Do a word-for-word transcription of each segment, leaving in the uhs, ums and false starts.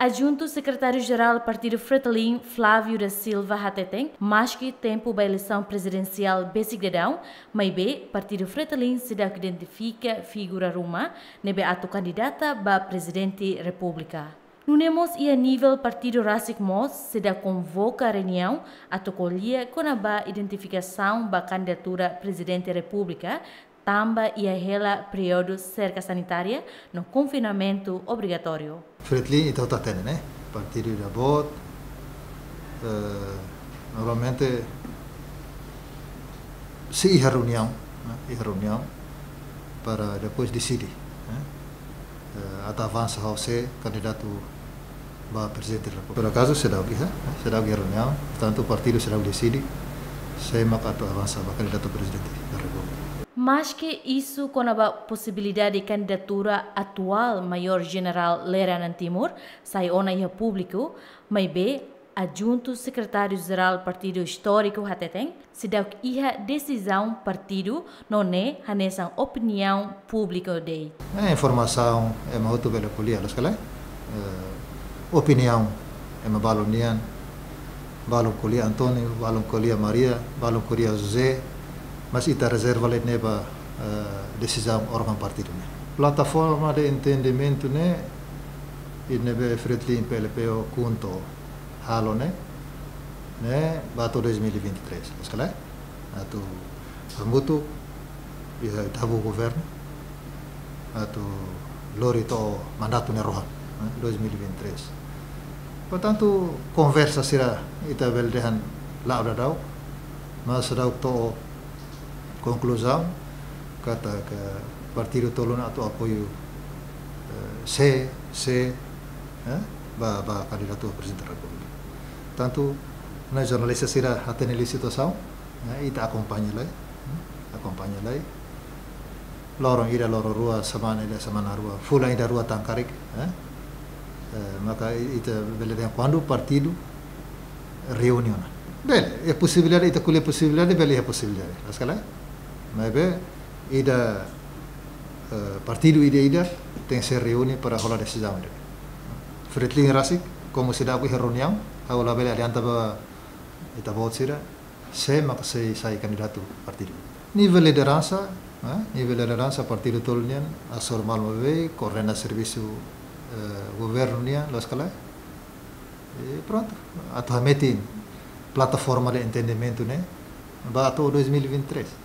Adjuntu Sekretáriu-Jerál Partidu Fretilin, Flávio da Silva, hateten, maske tempu ba eleisaun prezidensiál besik daudaun, maibé Partidu Fretilin seidauk identifika figura ruma ne'ebé atu kandidata ba Prezidente Repúblika. Nune'e mós iha nivel partidu rasik mós seidauk konvoka reuniaun atu ko'alia kona-ba identifikasaun ba kandidatura Prezidente Repúblika, tanba iha hela períodu serka sanitária no konfinamentu obrigatóriu. Fretilin ita hotu hatene, ne'e? Partidu ida boot, eh, normalmente sei iha reuniaun, ne'e? Iha reuniaun para depois deside, ne'e? Eh, atu avansa ho sé kandidatu ba Prezidente da Repúblika. Por akazu seidauk iha, ne'e? Seidauk iha reuniaun, portantu partidu seidauk deside sé mak atu avansa ba kandidatu Prezidente da Repúblika. Maske isu kona-ba posibilidade kandidatura atuál Majór Jenerál Lere Anan Timur sai ona iha públiku, maibé Adjuntu Sekretáriu-Jerál Partidu Istóriku hateten, seidauk iha desizaun partidu no ne'e hanesan opiniaun públiku de'it. Eh, informasaun ema hotu bele ko'alia, loos ka lae? Eh, opiniaun ema balun nian, balun ko'alia António, balun ko'alia Maria, balun ko'alia José, mas ita rezerva lai ne'e ba, eh, desizaun órgaun partidu ne'e. Plataforma de entendimentu ne'e, ida ne'ebé Fretilin PLP ho KHUNTO halo ne'e, ne'e ba to'o dois mil e vinte e três, loos ka lae? Atu hamutuk iha oitavu governu, atu lori to'o mandatu ne'e rohan, ne'e, dois mil e vinte e três. Portantu, konversa sira ita bele dehan la'o daudaun, mas seidauk to'o konkluzaun katak partidu tolu ne'e atu apoiu, eh, sé, sé, eh, ba, ba kandidatu Prezidente Repúblika. Tantu, ne'e, jornalista sira hatene liu situasaun, ne'e, ita akompaña lai, hmm, akompaña lai. Loron ida, loron rua, semana ida, semana rua, fulan ida, rua tan karik, eh? Eh, maka i-, ita bele dehan kuandu partidu reúne ona. Bele, iha posibilidade, ita ko'alia posibilidade, bele iha posibilidade, loos ka lae? Maibé, ida, eh, partidu ida-ida tenke sei reúne para hola desizaun ida. Fretilin rasik, komu seidauk iha reuniaun, ha'u labele adianta ba ita-boot sira, sé mak sei sai kandidatu partidu. Nivel lideransa, eh, nivel lideransa partidu tolu nian, asor malu maibé, koordena servisu, eh, governu nian, loos ka lae? E prontu, atu hametin plataforma de entendimentu ne'e ba to'o dois mil e vinte e três.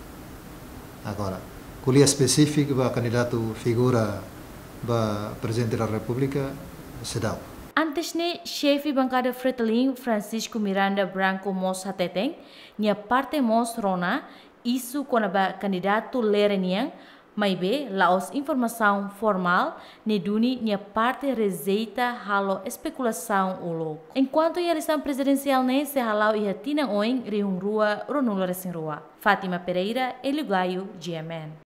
Agora, ko'alia espesífiku ba kandidatu figura ba Prezidente da Repúblika, seidauk. Antes ne'e, xefe bankada Fretilin, Francisco Miranda Branco mós hateten, nia parte mós rona isu kona-ba kandidatu Lere nian, maibé la'ós informasaun formál, ne'e duni nia parte rejeita halo espekulasaun uluk. Enkuantu iha eleisaun prezidensiál ne'e sei hala'o iha tinan oin rihun rua ruanulu-resin-rua. Fátima Pereira, Hélio Gaio, G M N.